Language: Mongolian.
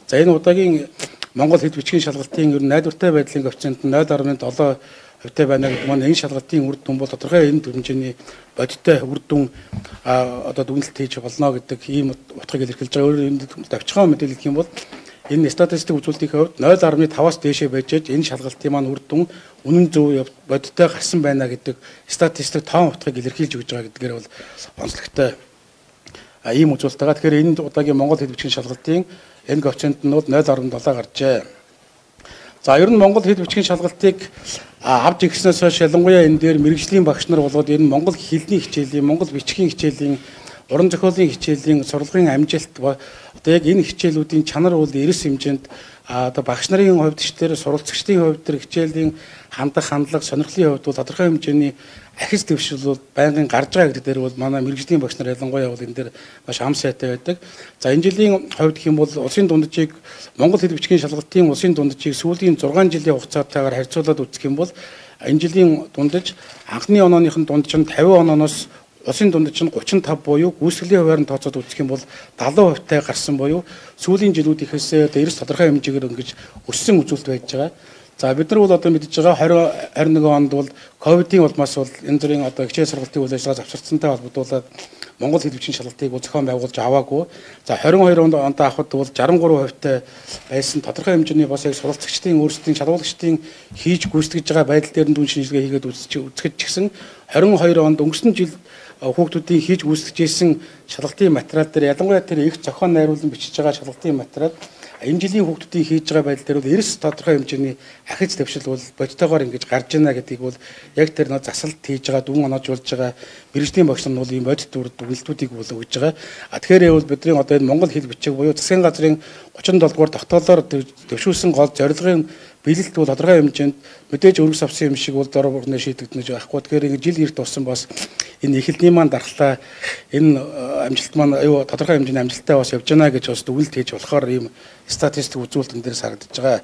За энэ удаагийн Монгол хэд бичгийн шалгалтын ер нь найдвартай байдлын коэффициент нь 0.7% байна гэдэг маань энэ шалгалтын үр дүн бол тодорхой энэ хэмжээний бодиттой үр дүн одоо дүгнэлт хийж болно гэдэг ийм утгыг илэрхийлж байгаа. Өөрөөр хэлбэл давчхан мэдээлэл гэх юм бол энэ статистик үзүүлэлтийн хувьд 0.5-аас дээшээ байж энэ шалгалтын маань үр дүн үнэн зөв бодиттой гарсан байна гэдэг статистик тоон утгыг илэрхийлж өгж байгаа гэдгээр бол онцлогтой ийм үзүүлэлт байгаа. Тэгэхээр энэ удаагийн Монгол хэд бичгийн шалгалтын энэ коэффициент нь 0.7 гарчээ. За ер нь Монгол хэд бичгийн шалгалтыг авч ирснээс хойш ялангуяа энэ дээр мэрэгжлийн багш нар болоод энэ Монгол хэлний хичээлийн, Монгол бичгийн хичээлийн, уран зохиолын хичээлийн сургалтын амжилт одоо яг энэ хичээлүүдийн чанар бол эрс хэмжээнд одоо багш нарын хувьд ч тэр суралцагчдын хувьд тэр хичээлийн хандах хандлага, сонирхлын хувьд бол тодорхой хэмжээний ахис дэвшил бол байнгын гарч байгаа гэдэг дээр бол манай мэрэгжлийн багш нар ялангуяа бол энэ дээр маш ам сайтай байдаг. За энэ жилийн хувьд гэх юм бол улсын дунджийг Монгол хэд бичгийн шалгалтын улсын дунджийг сүүлийн 6 жилийн хугацаатайгаар харьцуулаад үзэх юм бол энэ жилийн дундаж анхны онооных нь дундаж нь 50 онооноос улсын дундаж нь 35 буюу гүйцэтгэлийн хуваарь нь тооцоод үзэх юм бол 70%-тай гарсан буюу сүүлийн жилүүдийнхээс эрс тодорхой хэмжээгээр ингэж өссөн үзүүлэлт байж байгаа. За бид нар бол одоо мэдж байгаа 2021 онд бол ковидын улмаас бол энэ зүрийн одоо хичээл сургалтын үйл ажиллагаа завсарцсантай холбогдуулаад Монгол хэд бичгийн шалгалтыг зохион байгуулж аваагүй. За 22 онд авахд бол 63%-тай байсан тодорхой хэмжээний бас яг суралцагчдын өөрсдийн шалгуулагчдын хийж гүйцэтгэж байгаа байдал дээр нь дүн шинжилгээ хийгээд үзэхэд ч гэсэн 22 онд өнгөрсөн жил хүүхдүүдийн хийж гүйцэтгэж ирсэн шалгалтын материал дээр ялангуяа тэр их зохион найруулан бичиж байгаа шалгалтын материал энэ жилийн хүүхдүүдийн хийж байгаа байдал дээр бол эрс тодорхой хэмжээний ахиц дэвшил бол бодтойгоор ингэж гарч ийна гэдгийг бол яг тэр нөө засалт хийж байгаа дүн оноожуулж байгаа мэрэгжлийн багш нар нь бол ийм бодит дүгнэлтүүдийг бол өгж байгаа. Тэгэхээр бол бидний одоо энэ Монгол хэл бичиг буюу засгийн газрын 37 дугаар тогтоолоор дэвшүүлсэн гол зорилгын биелэлт бол тодорхой хэмжээнд мэдээж өргөс авсан юм шиг бол дор бүрнээ шийдэгдэнэж байхгүй. Тэгэхээр ингэ жил эрт болсон бас энэ эхлэлний маань дархлаа энэ амжилт маань аюу тодорхой хэмжээний амжилттай бас явж байна гэж бас дүгнэлт хийж болохоор ийм статистик үзүүлэлтэн дээр харагдаж байгаа.